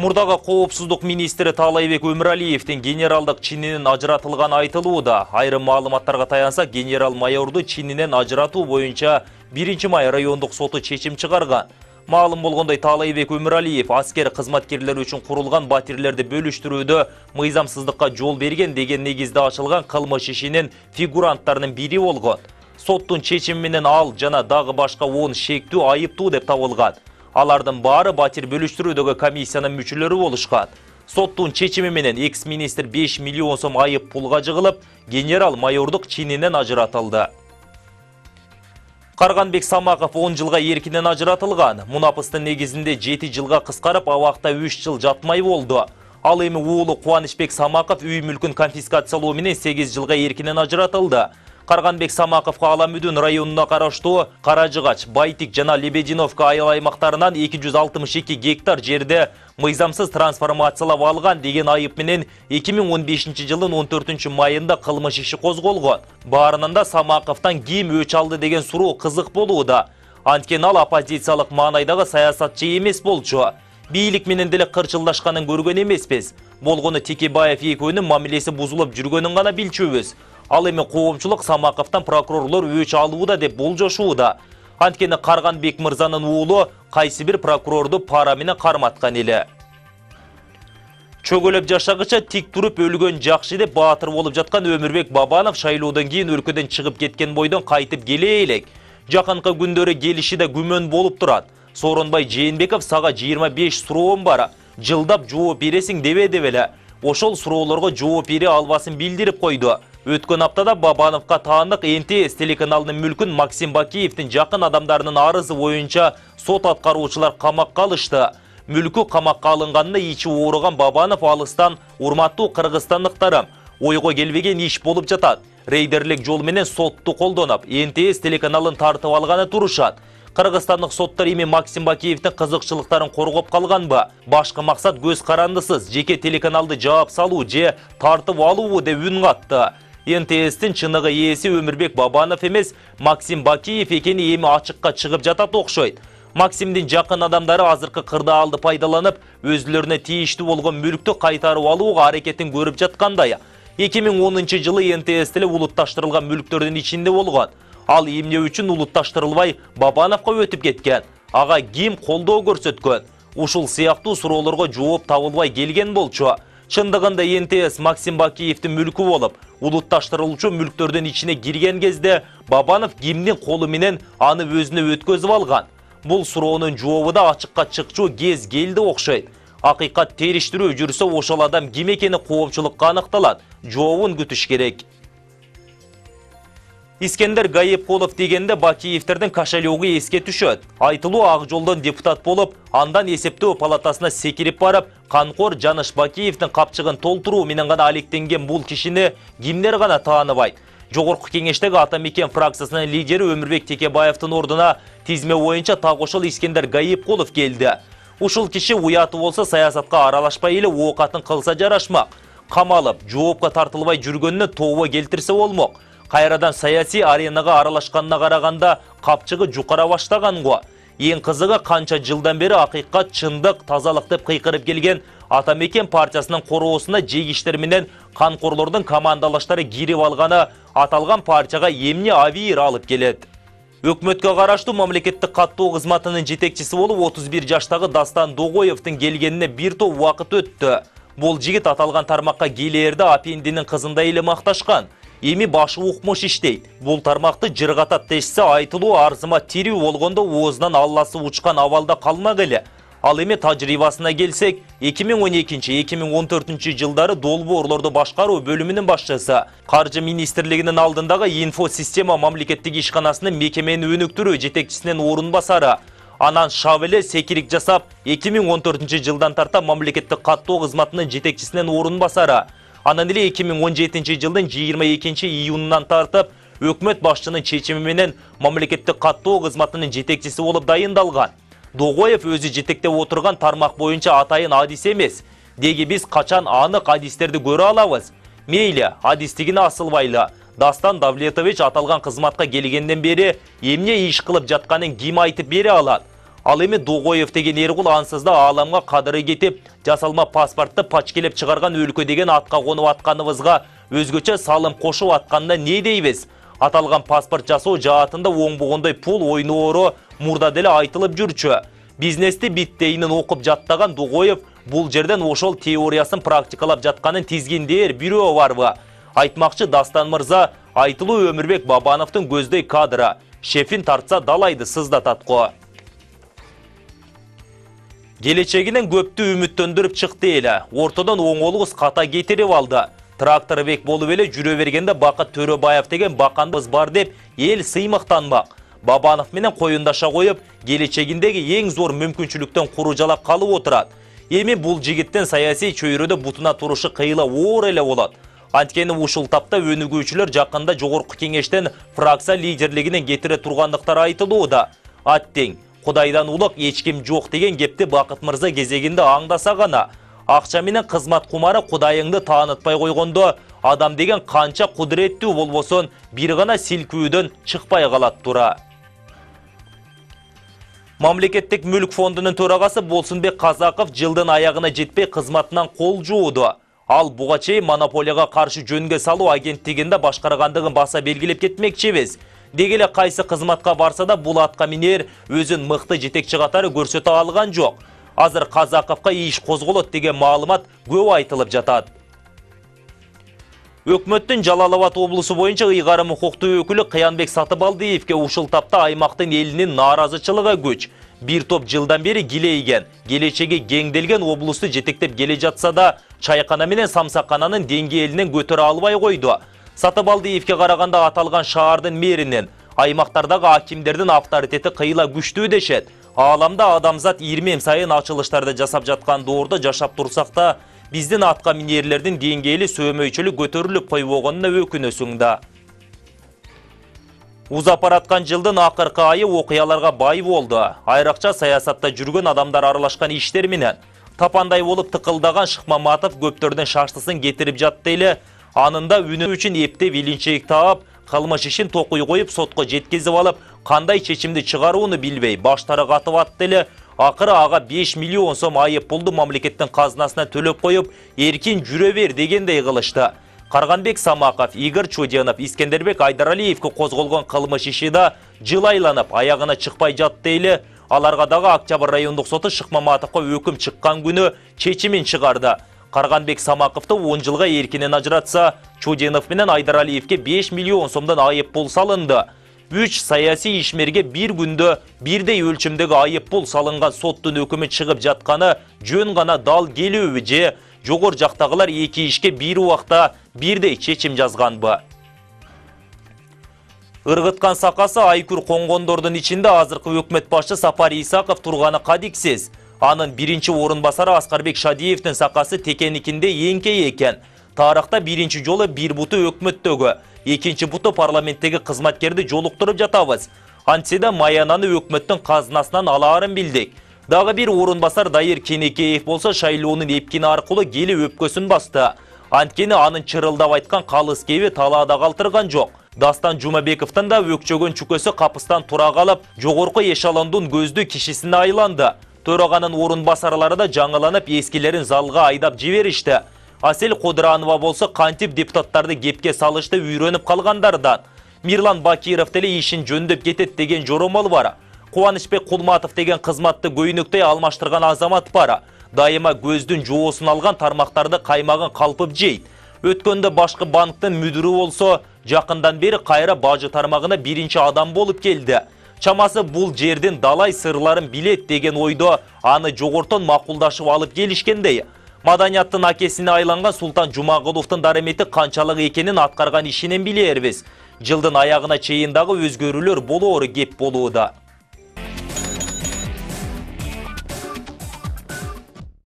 Мурдагы коопсуздук министри Таалайбек Өмүралиевдин генералдык чининин ажыратылганы айтылууда. Айрым маалыматтарга таянса, генерал-майорду чининен ажыратуу боюнча 1-май райондук соту чечим чыгарган. Маалым болгондой, Таалайбек Өмүралиев аскер кызматкерлери үчүн курулган батирлерди бөлүштүрүүдө мыйзамсыздыкка жол берген деген негизде ачылган кылмыш ишинин фигуранттарынын бири болгон. Соттун чечими менен ал жана дагы башка 10 шектүү айыптуу деп табылган. Алардын баары батир бөлүштүрүүдөгү комиссиянын мүчөлөрү болушкан. Соттун чечими менен экс-министр 5 миллион сом айып пулга жыгылып, генерал-майордук чининен ажыратылды. Карганбек Самаков 10 жылга эркинен ажыратылган. Мунапыстын негизинде 7 жылга кыскарып, абакта 3 жыл жатмай болду. Ал эми уулу Кубанычбек Самаков үй мүлкүн конфискациялоо менен 8 жылга эркинен ажыратылды. Карганбек Самаковго Аламүдүн районуна караштуу Каражыгач, Байтик жана Лебединовка айыл аймактарынан 262 гектар жерде мыйзамсыз трансформациялап алган деген айып менен 2015 жылдын 14 майында кылмыш иши козголгон. Баарынан да Самаковтан ким өч алды деген суроо кызык болууда. Анткени ал оппозициялык маанайдагы саясатчы эмес болчу. Бийлик менен деле кырчылдашканын көргөн эмеспиз. Болгону Текебаев экөөнүн мамилеси бузулуп жүргөнүн гана билчүбүз. Ал эми коомчулук Самаковтан прокурорлор өч алууда деп болжошууда. Анткени Карганбек мырзанын уулу кайсы бир прокурорду пара менен карматкан эле. Чөгөлөп жашагыча тик туруп өлгөн жакшы деп баатыр болуп жаткан Өмүрбек Бабанов шайлоодон кийин өлкөдөн чыгып кеткен бойдон кайтып келе элек. Жакынкы күндөрү келиши да күмөн болуп турат. Сооронбай Жээнбеков сага 25 суроом бар. Жылдап жооп бересиң дебе деп эле. Ошол суроолорго жооп бере албасын билдирип койду. Өткөн аптада Бабановго таандык НТС телеканалынын мүлкүн Максим Бакиевдин жакын адамдарынын арызы боюнча сот аткаруучулар камакка алышты. Мүлкү камакка алынганында ичи ооруган Бабанов алыстан урматтуу кыргызстандыктарым, ойго келбеген иш болуп жатат. Рейдерлик жол менен сотту колдонуп, НТС телеканалын тартып алганы турушат. Кыргызстандык соттор эми Максим Бакиевдин кызыкчылыктарын коргоп калганбы? Башкы максат көз карандысыз жеке телеканалды жаап салуу же тартып алуу деп үн катты. НТС'тин чыныгы ээси Өмүрбек Бабанов эмес, Максим Бакиев экени эми ачыкка чыгып жатат окшойт. Максимдин жакын адамдары азыркы кырдаалды пайдаланып, өзүлөрүнө тийиштүү болгон мүлктү кайтарып алууга аракетин көрүп жаткандай. 2010 жылы НТС теле улутташтырылган мүлктөрдүн ичинде болгон. Ал эмне үчүн улутташтырылбай Бабановго өтүп кеткен? Ага ким колдоо көрсөткөн? Ушул сыяктуу суроолорго жооп табылбай келген болчу. Чындыгында НТС Максим Бакиевдин мүлкү болуп, улутташтырылуучу мүлктөрдүн ичине кирген кезде Бабанов кимдин колу менен аны өзүнө өткөзүп алган? Бул суроонун жообу да ачыкка чыкчу кез келди окшойт. Акыйкат териштирүү жүрсө ошол адам ким экени коомчулукка аныкталат. Жообун күтүш керек. Искендер Гайыпкулов дегенде Бакиевтердин кошелегу эске түшөт. Айтылуу Ак жолдон депутат болуп, андан эсептөө палатасына секирип барып, Канкор Жаныш Бакиевдин капчыгын толтуруу менен гана алектенген бул кишини кимдер гана тааныбайт. Жогорку кеңештеги Ата Мекен фракциясынын лидери Өмүрбек Текебаевдин ордуна тизме боюнча так ошол Искендер Гайыпкулов келди. Ушул киши уяты болсо саясатка аралашпай эле оокатын кылса жарашмак. Камалып, жоопко тартылбай жүргөнүнө тобо келтирсе болмок. Кайрадан саясий аренага аралашканына караганда капчыгы жукара баштаган го. Эң кызыгы канча жылдан бери акыйкат, чындык, тазалык деп кыйкырып келген Ата Мекен партиясынын короосуна жегиштер менен канкорлордун командалаштары кирип алганы аталган партияга эмне авир алып келет. Өкмөткө караштуу мамлекеттик каттоо кызматынын жетекчиси болуп 31 жаштагы Дастан Догоевдин келгенине бир топ убакыт өттү. Бул жигит аталган тармакка келээрде апендинин кызындай эле макташкан. Эми башы укмуш иштейт. Бул тармакты жыргатат дешсе, айтылуу арзыма тирүү болгондо оозунан алласы учкан абалда калмак эле. Ал эми тажрыйбасына келсек, 2012-2014 жылдары долбоорлорду башкаруу бөлүмүнүн башчысы, Каржы министрлигинин алдындагы инфо система мамлекеттик ишканасынын мекемени өнүктүрүү жетекчисинин орун басары. Анан шап эле секирик жасап, 2014 жылдан тарта мамлекеттик каттоо кызматынын жетекчисинин орун басары. Анан эле 2017 жылдын 22 июнунан тартып, өкмөт башчынын чечими менен мамлекеттик каттоо кызматынын жетекчиси болуп дайындалган. Догоев өзү жетектеп отурган тармак боюнча атайын адис эмес. Деги биз качан анык адистерди көрө алабыз? Мейли, адистигине асылбайлы. Дастан Давлетович аталган кызматка келгенден бери эмне иш кылып жатканын ким айтып бере алат? Ал эми Догоев деген эркул ансыз да ааламга кадыры кетип, жасалма паспортты пачкелеп чыгарган өлкө деген атка конуп атканыбызга өзгөчө салым кошуп атканына не дейбиз? Аталган паспорт жасоо жаатында оңбогондой пул ойноору мурда деле айтылып жүрчү. Бизнести биттейинин окуп жаттаган Догоев бул жерден ошол теориясын практикалап жатканын тизгиндээр бирөө барбы? Айтмакчы Дастан мырза, айтылуу Өмүрбек Бабановдун көздөй кадры. Шефин тартса далайды сыздатат го. Келечегинен көптү үмүттөндүрүп чыкты эле. Ортодон оңолугус ката кетирип алды. Тракторбек болуп эле жүрө бергенде Бакыт Төрөбаев деген баканыбыз бар деп эл сыймыктанмак. Бабанов менен коюндаша коюп, келечегиндеги эң зор мүмкүнчүлүктөн куружалак калып отурат. Эми бул жигиттин саясий чөйрөдө бутуна турушу кыйла оор эле болот. Анткени ушул тапта өнүгүүчүлөр жакында жогорку кеңештен фракция лидерлигине кетире тургандыктары айтылууда. Аттең, Кудайдан улук эч ким жок деген кепти Бакыт мырза кезегинде аңдаса гана. Акча менен кызмат кумары Кудайыңды таанытпай койгондо, адам деген канча кудуреттүү болбосун, бир гана силкүүдөн чыкпай калат тура. Мамлекеттик мүлк фондунун төрагасы Болсунбек Казаков жылдын аягына жетпей кызматынан кол жууду. Ал буга чейин монополияга каршы жөнгө салуу агенттигинде башкаргандыгын баса белгилеп кетмекчибиз. Дегеле кайсы кызматка барса да бул атка минер өзүн мыкты жетекчи катары көрсөтө алган жок. Азыр Казаковго иш козголот деген маалымат көп айтылып жатат. Өкмөттүн Жалал-Абад облусу боюнча ыйгарым укуктуу өкүлү Кыянбек Сатыбалдиевге ушул тапта аймактын элинин нааразычылыгы күч. Бир топ жылдан бери килейген, келечеги кеңделген облусту жетектеп келе жатса да, чайкана менен самсакананын деңгээлинен көтөрө албай койду. Сатыбалдиевге караганда аталган шаардын мэринин, аймактардагы акимдердин авторитети кыйла күчтүү дешет. Ааламда адамзат ирмем сайын ачылыштарды жасап жаткан доордо жашап турсак да, биздин атка минерлердин деңгээли сөөмөйчүлүк көтөрүлүп койбогонуна өкүнөсүң да. Узап бараткан жылдын акыркы айы окуяларга бай болду. Айракча саясатта жүргөн адамдар аралашкан иштер менен тапандай болуп тыкылдаган Шыкмаматов көптөрдүн шаштысын кетирип жатты эле. Анында үнү үчүн эптеп илинчек таап, кылмыш ишин токуй коюп сотко жеткизип алып, кандай чечимди чыгарууну билбей баштары катып атты эле. Акыры ага 5 миллион сом айып пулду мамлекеттин казынасына төлөп коюп, эркин жүрө бер дегендей кылышты. Карганбек Самаков, Игорь Чуденов, Искендербек Айдаралиевге козголгон кылмыш иши да жыл айланып аягына чыкпай жатты эле. Аларга дагы Октябрь райондук соту Шыкмаматовго өкүм чыккан күнү чечимин чыгарды. Карганбек Самаковду 10 жылга эркинен ажыратса, Чуденов менен Айдаралиевге 5 миллион сомдон айып пул салынды. 3 саясий ишмерге бир күндө бирдей өлчөмдөгү айып пул салынган соттун өкүмү чыгып жатканы жөн гана дал келүүбү же жогор жактагылар эки ишке бир убакта бирдей чечим жазганбы? Ыргыткан сакасы айкүр коңгондордун ичинде азыркы өкмөт башчы Сапар Исаков турганы кадиксиз. Анын биринчи орун басары Аскарбек Шадиевдин сакасы текеникинде эңкей экен. Тарыхта биринчи жолу бир буту өкмөттөгү, экинчи буту парламенттеги кызматкерди жолуктуруп жатабыз. Антседе маянаны өкмөттүн казынасынан алаарын билдик. Дагы бир орун басар Дайыр Кенекеев болсо шайлоонун эпкини аркылуу кели өпкөсүн басты. Анткени анын чырылдап айткан калыс кеби талаада калтырган жок. Дастан Жумабековдун да өкчөгөн чүкөсү капыстан тура калып, жогорку эшелондун көздүү кишисине айланды. Төраганын орун басарлары да жаңыланып, эскилерин залга айдап жиберишти. Асел Кодранова болсо кантип депутаттарды кепке салышты үйрөнүп калгандардан. Мирлан Бакиров деле ишин жөндөп кетет деген жоромол бар. Кубанычбек Кулматов деген кызматты көйнөктөй алмаштырган азамат бар. Дайыма көздүн жоосун алган тармактарды каймагын калпып жейт. Өткөндө башкы банктын мүдүрү болсо, жакындан бери кайра бажы тармагына биринчи адам болуп келди. Чамасы бул жердин далай сырларын билет деген ойдо аны жогортон макулдашып алып келишкендей. Маданияттын акесине айланган Султан Жумагуловдун дарымети канчалык экенин аткарган ишинен билербиз. Жылдын аягына чейин дагы өзгөрүүлөр болоору кеп болууда.